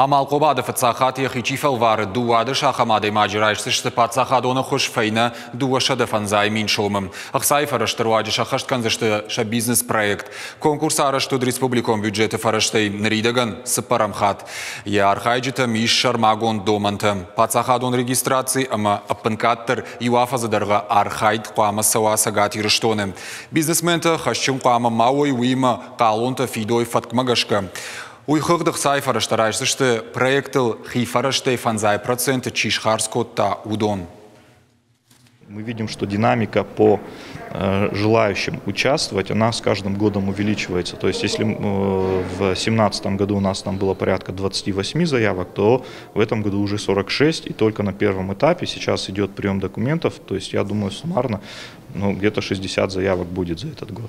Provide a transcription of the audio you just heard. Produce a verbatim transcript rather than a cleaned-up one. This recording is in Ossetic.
Амалхъомады фыццаг хатт йӕхи чи фӕлвары, дыууадӕс ахӕм адӕймаджы райсдзысты паддзахадон ӕххуыс фӕйнӕ дыууӕсӕдӕ фӕндзай мин сомы. Ӕхцайы фӕрӕзты руаджы сӕххӕст кӕндзысты сӕ бизнес-проект. Конкурс арӕзт уыд республикон бюджеты фӕрӕзтӕй ныридӕгӕн цыппӕрӕм хатт. Йӕ архайджытӕм ис сӕрмагонд домӕнтӕ. Паддзахадон регистраци ӕмӕ ӕппынкъаддӕр иу афӕдзы дӕргъы архайд хъуамӕ цӕуа Цӕгат Ирыстоны. Бизнесментӕ хӕсджын хъуамӕ ма уой, уыимӕ хъалонтӕ фидой фӕткмӕ гӕсгӕ. Уый хыгъд ӕхцайы фӕрӕзтӕ райсдзысты проектыл хи фӕрӕзтӕй фӕндзай проценты чи схардз кодта, уыдон. Мы видим, что динамика по э, желающим участвовать, она с каждым годом увеличивается. То есть если э, в две тысячи семнадцатом году у нас там было порядка двадцати восьми заявок, то в этом году уже сорок шесть, и только на первом этапе сейчас идет прием документов, то есть я думаю, суммарно, ну, где-то шестьдесят заявок будет за этот год.